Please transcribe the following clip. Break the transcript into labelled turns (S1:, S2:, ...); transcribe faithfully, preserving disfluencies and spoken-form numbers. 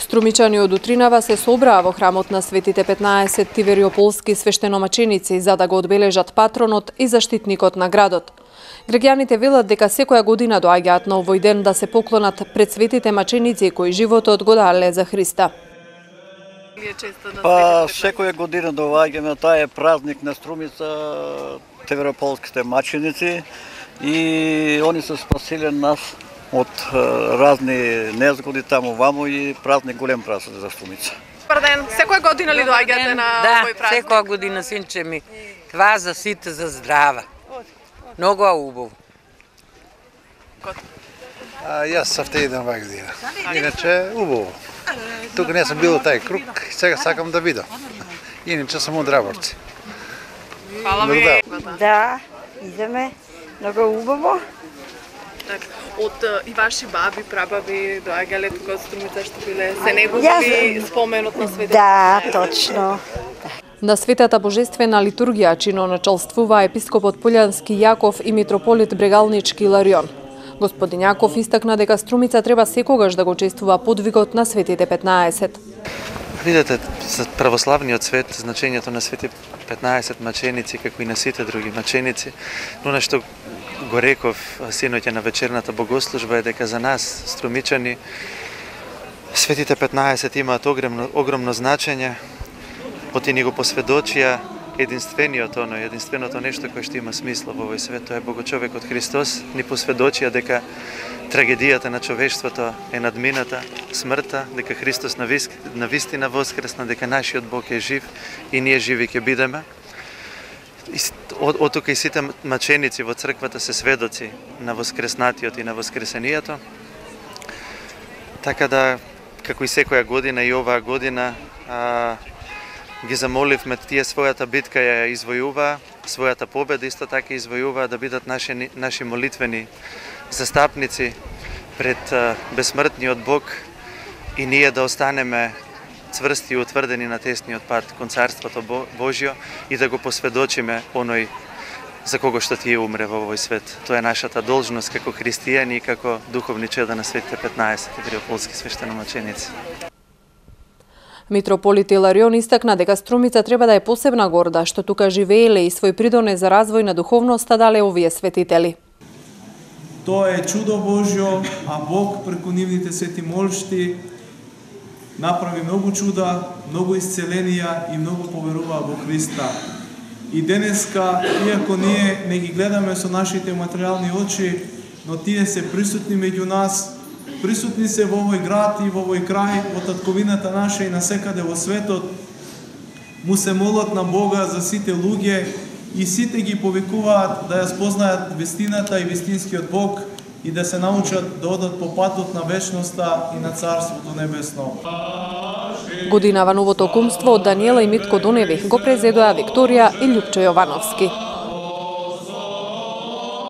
S1: Струмичани од утринава се собраа во храмот на Светите петнаесет тивериополски свештеномаченици за да го одбележат патронот и заштитникот на градот. Граѓаните велат дека секоја година доаѓаат на овој ден да се поклонат пред светите маченици кои животот го дале за Христа.
S2: Па секоја година доаѓаме, таа е празник на Струмица, тивериополските маченици, и они се спасиле нас од разни незгоди таму ваму и празник, голем празник за Струмица.
S3: Добар ден, секоја година ли доаѓате на
S4: да,
S3: овој празник?
S4: Да, секоја година, синче ми. Това за сите за здрава. Многу убаво.
S5: А, јас савте идам оваа година. Иначе убаво. Тука не сум бил тај круг, сега сакам да видам. Иначе сум од Раборци.
S3: Фала ви.
S6: Да, идеме. Многу убаво.
S3: Од и ваши баби, прабаби доаѓале тука од Струмица што биле се негови споменот на Светите?
S6: Да, точно.
S1: На Светата Божествена литургија чиноначалствува епископот Полјански Јаков и митрополит Брегалнички Иларион. Господин Јаков истакна дека Струмица треба секогаш да го чествува подвигот на Светите петнаесет.
S7: Видете, за православниот свет значењето на Светите петнаесет маченици, како и на сите други маченици, но нешто го реков синоќа на вечерната богослужба е дека за нас, струмичани, Светите петнаесет имаат огромно, огромно значење, поти ни го посведочија единствениот оно, единственото нешто кое што има смисла во овој свет, тоа е Богочовекот Христос, ни посведочија дека трагедијата на човештвото е надмината, смртта, дека Христос на вистина воскресна, дека нашиот Бог е жив и ние живи ќе бидеме. Од, од тука и сите маченици во црквата се сведоци на воскреснатиот и на воскресението. Така да, како и секоја година и оваа година, а, ги замоливме тие својата битка ја извојуваа, својата победа исто така извојуваа, да бидат наши, наши молитвени застапници пред а, безсмртниот Бог и ние да останеме цврсти и утврдени на тесниот пат кон Царството Божјо и да го посведочиме оној за кого што тие умре во овој свет. Тоа е нашата должност како христијани и како духовни чеда на Светите петнаесет тивериополски свештеномаченици.
S1: Митрополит Иларион истакна дека Струмица треба да е посебна горда што тука живееле и свој придонес за развој на духовноста дале овие светители.
S8: Тоа е чудо Божјо, а Бог преку нивните свети молшти направи многу чуда, многу исцеленија и многу поверуваа во Христа. И денеска, иако ние не ги гледаме со нашите материјални очи, но тие се присутни меѓу нас, присутни се во овој град и во овој крај, во татковината наша и насекаде во светот, му се молат на Бога за сите луѓе и сите ги повикуваат да ја спознаат вистината и вистинскиот Бог и да се научат да одат по патот на вечноста и на Царството Небесно.
S1: Годинава новото кумство од Даниела и Митко Дуневи го презедоа Викторија и Љупчо Јовановски.